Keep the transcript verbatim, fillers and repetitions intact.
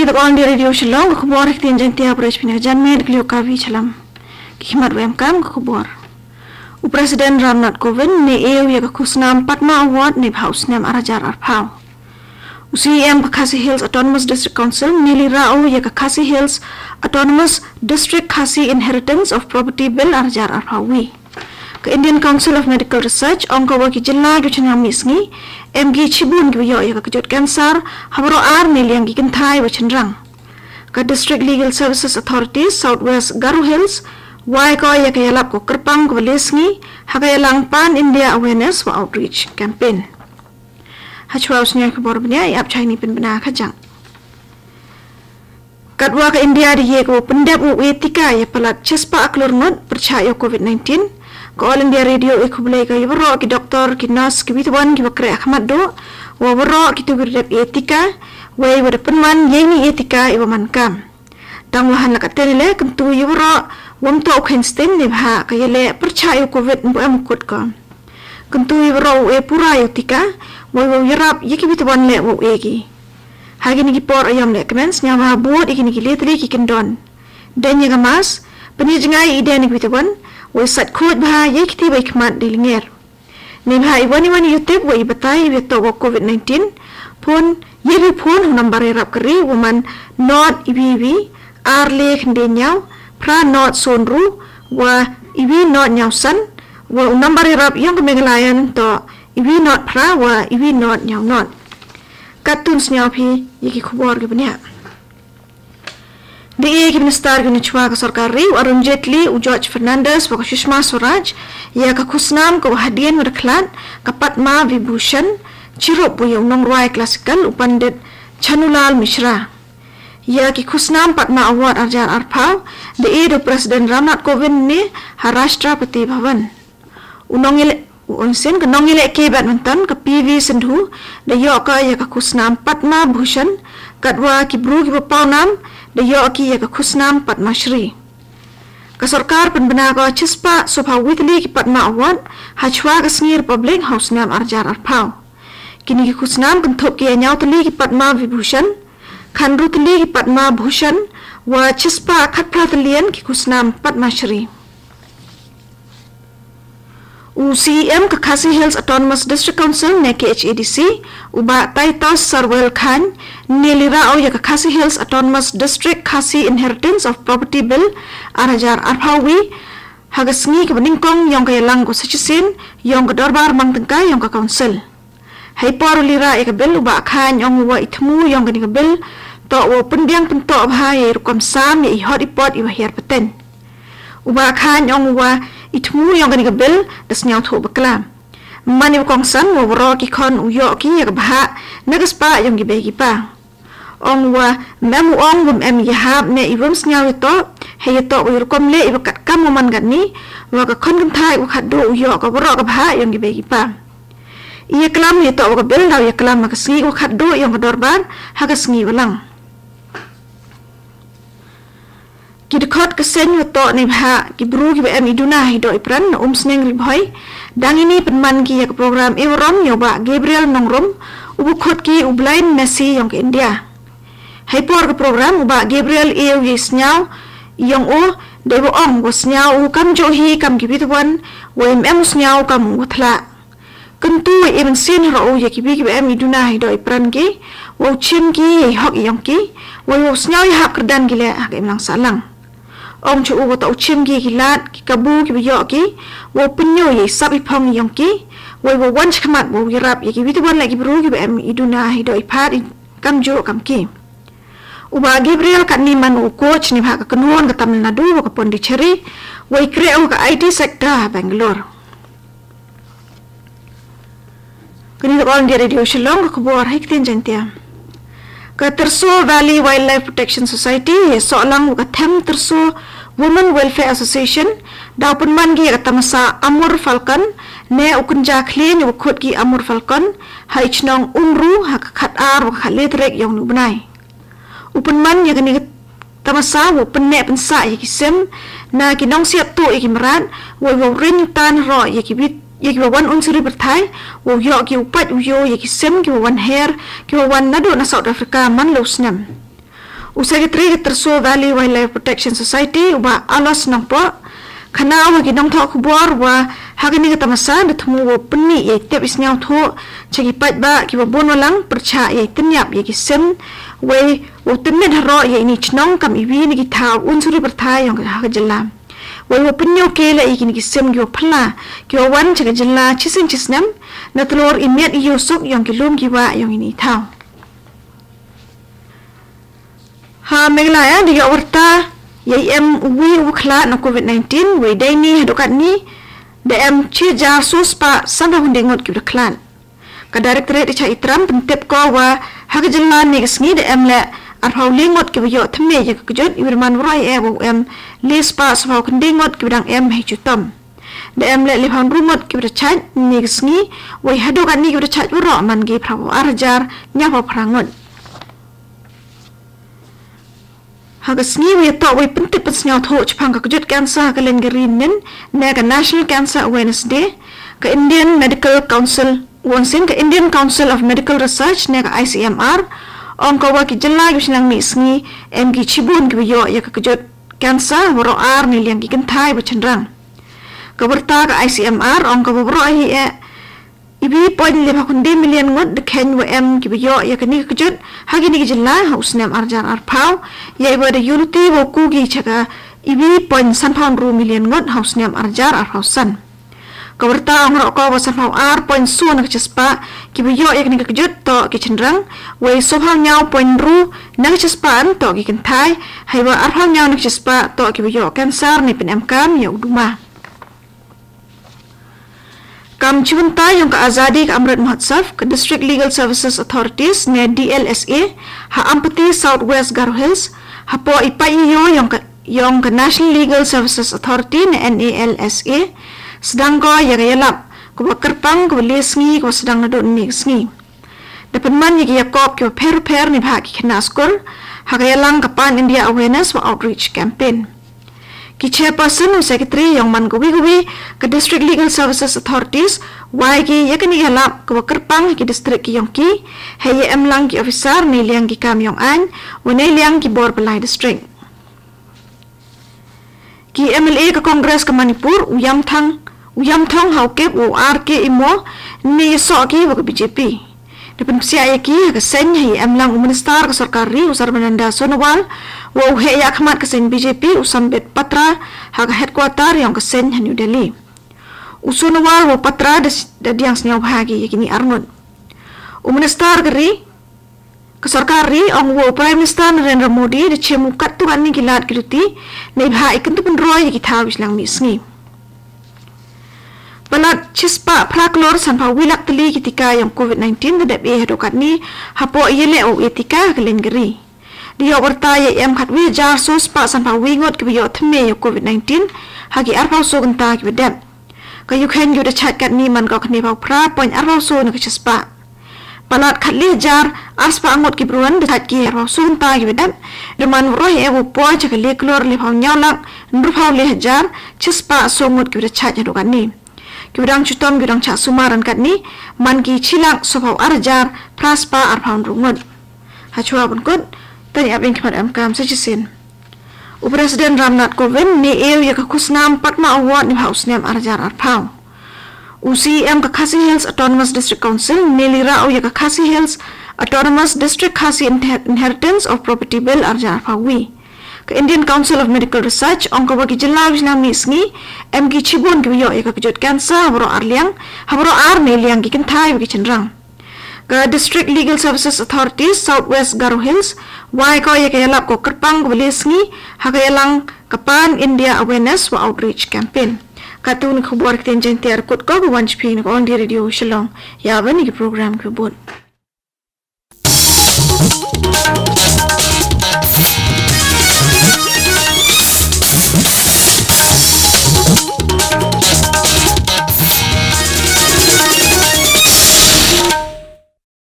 Kini dok All India Radio Shillong, ka khubor ha ktien Jaiñtia, phrase pini ka janmiet, ka liok Kavi Challam. Ki khmat wem kam ka khubor. U President Ramnath Kovind ne eu ia ka khusnam Padma Award ne bha u snem ar hajar arphaw. U C E M ka Khasi Hills Autonomous District Council ne lira u ia ka Khasi Hills Autonomous District Khasi Inheritance of Property Bill ar hajar arphaw wi. Ka Indian Council of Medical Research ong ka wa ki jylla ki chynrang mih sngi, em ki chibun ki wa yoh ia ka kjut cancer, ha waroh ar ne liang ki kynthai wa chynrang. Ka District Legal Services Authority South West Garo Hills wai ko ia ka yalap ko kyrpang ko wa le sngi, ha ka yalang Pan India Awareness wa Outreach Campaign. Hachwa u sniang ka bor bnia i ap chai ni pynbna ka jang. Katwa ka India da ye ko pyndep u e tika ia palat chispah klur ngut pyrchah ia Covid nineteen. Ka All India Radio e khublei ka ia waroh ki doktor, ki nurse, ki witwan, ki wa kreh akhmat do, wa waroh ki tu ki dep e tika, wei wa da pynwan ye ni e tika i wa man kam. Tang wa han la ka ten le, kyntu ia waroh, wam to u khen stem ne bha, ka ia le pyrchah ia Covid mbu em kut ko. Kyntu ia waroh u e pura ia tika, wei wa yarap ia ki witwan le wa u e ki. Ha kini ki por ayam le kmen sniaw ha bud i kini ki letri ki kyndon. Den ia ka mask, pynjngai i den i ki witwan, wei sat khut bha ia ki ti wei khmat di linger. Ne bha i wani wani yutip wa i batai i wa to wa Covid nineteen, phone, ia bi phone hu number ia rap kari, wa man not i bi i bi, ar le khynde niaw, phra not son ru, wa i bi not niaw san, wa u number ia rap iong ka Meghalaya to i bi not phra, wa i bi not niaw not. Katun sniaw phi, ia ki khubor ki bnia. Da e ki Minister ki nchwa ka sorkar ri, u Arun Jaitley, u George Fernandes, wa ka Sushma Swaraj, ia ka khusnam ka wa hadien wa da khlat, ka Padma Vibhushan, chirup wa ia u nongrwai classical, u Pandit Chanulal Mishra. Ia ki khusnam Padma Award ar hajar arphaw, da e da u President Ramnath Kovind ne ha Rashtrapati Bhavan. U nongile, u onsen ka nongile ke badminton ka P V Sindhu, da yoh ka ia ka khusnam Padma Bhushan, katwa ki bru ki wa paw nam, da yoh ki ia ka khusnam Padma Shri. Ka sorkar pynbna ka chispah sopha witli ki Padma Award, hachwa ka sngi Republic ha u snem ar hajar arphaw. Kini ki khusnam kynthup ki ia niaw tli ki Padma Vibhushan, khanru tli ki Padma Bhushan, wa chispah khatphra tlian ki khusnam Padma Shri. U C E M ka Khasi Hills Autonomous District Council ne K H A D C, u ba Taitos Sarwel Khan, ne lira u ia ka Khasi Hills Autonomous District Khasi Inheritance of Property Bill ar hajar arphaw wi, ha ka sngi ka wa nyngkong iong ka ia lang ko sa chisin, iong ka dorbar mang tyngka iong ka council. Hei por u lira ia ka bill u ba Khan ong u wa i thmu iong kani ka bill, to wa u pynbiang pynto bha ia i rukom sam ia i hot i pot i wa hiar peten. U ba Khan ong u wa i thmu iong kani ka bill da sniaw thu bakla. Mani wa kongsan wa waroh ki khon u yoh ki ia ka bha, na ka spah iong ki bei ki pa. Ong wa mem u ong wam em ia hap ne i wam sniaw ia to, hei ia to wa i rukom le i wa kat kam wa man gat ni, wa ka khon kynthai wa khat do u yoh ka waroh ka bha iong ki bei ki pa. Ia klam ia to wa ka bill da ia klam ha ka sngi wa khat do iong ka dorbar, ha ka sngi wa lang. Ki dkhot ka seng wa to ne bha, ki bru ki wa em i duna hi do i pran, na um sneng ri bhoi. Dang ini pynman ki ia ka program i warom ia u ba Gabriel Nongrum, u bu khot ki u blind Messi iong ka India. Hei por ka program u ba Gabriel ia u ia sniaw, iong u, da i wa ong wa sniaw u kam jo hi kam ki witwan, wa im em u sniaw kam u thla. Kyntu wa i mynsiem ha ro u ia ki wi ki wa em i duna hi do i pran ki, wa u chim ki ia i hok iong ki, wa i wa u sniaw ia hap kyrdan ki le ha ka imlang sahlang. Ong cho u wa to u chim ki ia ki lad, ki kabu ki wa yoh ki, wa u pynyo ia i sap i phong iong ki, wa i wa wan chakmat wa u yarap ia ki witwan le ki bru ki wa em i duna hi do i phat i kam jo kam ki. U ba Gabriel kat ni man u coach ne bha ka kynhun ka Tamil Nadu wa ka Pondicherry, wa i kreh u ka I T sector ha Bangalore. Kani dok All India Radio Shillong ka khubor ha ktien Jaiñtia. Ka Tyrso Valley Wildlife Protection Society, ia sohlang wa ka Them Tyrso Women Welfare Association, da u pynman ki ia ka tamasa Amur Falcon, ne u kynja khlien wa khot ki Amur Falcon, ha i chnong Umru, ha ka khat ar wa ka khat le trek iong ni u bnai. U pynman ia kani ka tamasa wa u pynneh pynsah ia ki sim, na ki nongsiat tuh ia ki mrad, wa i wa u ring tan ro ia ki bit, ia ki wa wan un suri pyrthai, wa u yoh ki u pait u yo ia ki sim ki wa wan her, ki wa wan na do na South Africa man le u snem. U Secretary Gaterso Valley Wildlife Protection Society uba Alos Nangpo, khana wa ginongtho khubor wa hagani gata masa da thumu wo puni ye tep isnyau tho chagi pat ba ki wa bon walang percha ye tenyap ye ki sem wei wo temet haro ye ini chnong kam iwi ni ki tha unsuri perthai yong ha jilla. Wei wo punyo ke la ye ki ni ki sem ki wa phala ki wa wan chaga jilla chisin chisnam na telor imiat iyo sok yong ki lum ki wa yong ini thau. Ha Meghalaya da ya warta ya em wi u khla na covid nineteen wei dai ni hadokat ni da em chi ja sus pa san da hunde ngot ki da khlan. Ka directorate cha itram pentep ko wa ha ka jilla ni ka sngi da em le arphau le ngot ki ba yo thme ya ka kjut iwirman wro e wa em le spa sphau khunde ngot ki ba dang em hei chutom. Da em le le phan ru ngot ki ba da chaj ni ka sngi wei hadokat ni ki ba da chaj wro man gi phrau ar hajar nya pha phra ngot. Ha ka sngi wei to wei pentip pensnyaw tho chapang ka kjut cancer ha ka len gari nin ne ka National Cancer Awareness Day ka Indian Medical Council wonsin ka Indian Council of Medical Research ne ka I C M R ong ka wa ki jilla ki shnang mi sngi em ki chibun ki yo ya ka kjut cancer waro ar ni liang ki kenthai ba chenrang. Ka warta ka I C M R ong ka wa waro ahi e ibi point lima khunde million ngot de khen wa em ki ba yo ya ka ni ka kjut ha ki ni ki jilla ha u snem ar jar ar phau ya iwa da unity wa ku ki chaka ibi point san phau ru million ngot ha u snem ar jar ar phau san. Ka warta ong ro ko wa san phau ar point su na ka chaspa ki ba yo ya ka ni ka kjut to ki chenrang wei so phau nyau point ru na ka chaspa an to ki kenthai hai wa ar phau nyau na ka chaspa to ki ba yo cancer ni pen em kam ya uduma. Kam chibunta yong ka Azadi ka Amrit Mahotsav ka District Legal Services Authorities ne D L S A ha Ampati South West Garo Hills ha po ipa iyo yong ka yong ka National Legal Services Authority ne N A L S A sedang ko ya ka yalap ko ba kerpang ko ba le sngi ko ba sedang na do ni sngi. Da penman ya ki yakop ki ba pher pher ni ba ki khna skur ha ka yalang ka Pan India Awareness wa Outreach Campaign. Ki chairperson u secretary yong man gawi gawi ka District Legal Services Authorities wai ki ya ka ni yalap ko ba kerpang ki district ki yong ki hei ya em lang ki officer ne liang ki kam yong an wa ne liang ki bor pelai district. Ki M L A ka Congress ka Manipur u Yamthang u Yamthong Haokip u R K Imo ne ya so ki wa ka B J P. Da pen psia ya ki ha ka sen hei em lang u minister ka sorkar ri u Sarbananda Sonowal wa u he ya khmat ka sen B J P u Sambit Patra ha ka headquarter yong ka sen ha New Delhi. U Sonowal wa Patra da diang snyau bha ki ya ki ni arngut. U minister ka ri ka sorkar ri ong wa u Prime Minister Narendra Modi da chemu kat tu kan ni ki lad ki luti nei bha ikan tu pen roi ya ki thaw islang mi sngi. Palat chispa phra klor san phau wi lak teli ki tika yong covid nineteen da dep e hadokat ni ha po ye le o e tika ha ka len gari. Di yo warta ya em khat wi jar so spa san phau wi ngot ki ba yo thme yo covid nineteen ha ki ar phau so genta ki ba dep. Ka Ukraine ki ba da chat kat ni man ka khne phau phra point ar phau so na ka chispa. Palat khat le jar ar spa ngot ki bruan da chat ki ar phau so genta ki ba dep. Da man roi e wo po cha ka le klor le phau nyau lak nru phau le hajar chispa so ngot ki ba da chat hadokat ni. Ki ba dang chutom ki ba dang cha sumar an kat ni man ki chilak so phau ar hajar phra spa ar phau nru ngot. Ha chua bun kut tani abin khmat am kam sa chisin. U President Ramnath Kovind ne eu ya ka khusnam Padma Award ni ha u snem ar hajar ar phau. U C E M ka Khasi Hills Autonomous District Council ne li ra u ya ka Khasi Hills Autonomous District Khasi Inher- Inheritance of Property Bill ar hajar ar phau wi. Ka Indian Council of Medical Research ong ka wa ki jilla wi shnang mi sngi em ki chibun ki wa yo ya ka kjut cancer ha bro ar liang ha bro ar ne liang ki kenthai wa ki chenrang. Ka District Legal Services Authority South West Garo Hills wai ko ya ka yalap ko kerpang ko ba le sngi ha ka yalang ka Pan India Awareness wa Outreach Campaign. Ka tu ni khubor ki ten jen tiar kut ko ko wan chiping ko All India Radio Shillong ya wa ni ki program ki bun.